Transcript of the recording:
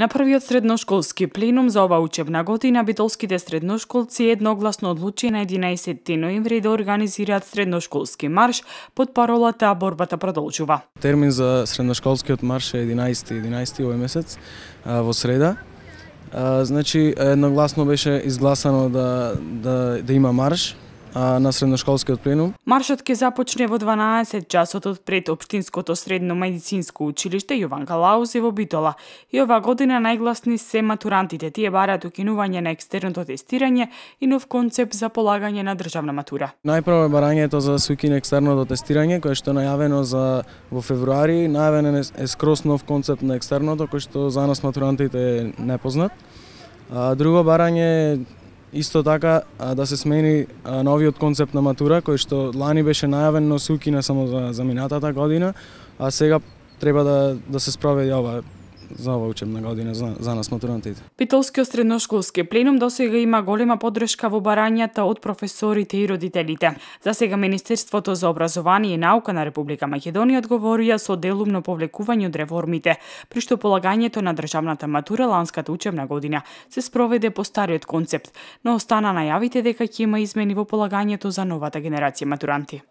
На првиот средношколски пленум за ова учебна година битолските средношколци едногласно одлучи на 11 ноември да организираат средношколски марш под паролата "Борбата продолжува". Термин за средношколскиот марш е 11 овој месец во среда. Значи едногласно беше изгласано да има марш на средношколскиот пленум. Маршот ќе започне во 12 часот од пред Општинското средно медицинско училиште Јован Калаузи во Битола. И ова година најгласни се матурантите. Тие бараат укинување на екстерното тестирање и нов концепт за полагање на државна матура. Најпрво е барањето за се укине екстерното тестирање, кое што е најавено во февруари. Најавен е скрос нов концепт на екстерното, кој што за нас матурантите е непознат. Друго барање исто така да се смени новиот концепт на матура, кој што лани беше најавен, но се укина само за минатата година, а сега треба да се спроведе за ова учебна година за нас матурантите. Битолскиот средношколски пленум досега има голема поддршка во барањата од професорите и родителите. За сега Министерството за образование и наука на Република Македонија одговорија со делумно повлекување од реформите, при што полагањето на државната матура ланската учебна година се спроведе по стариот концепт, но остана најавите дека ќе има измени во полагањето за новата генерација матуранти.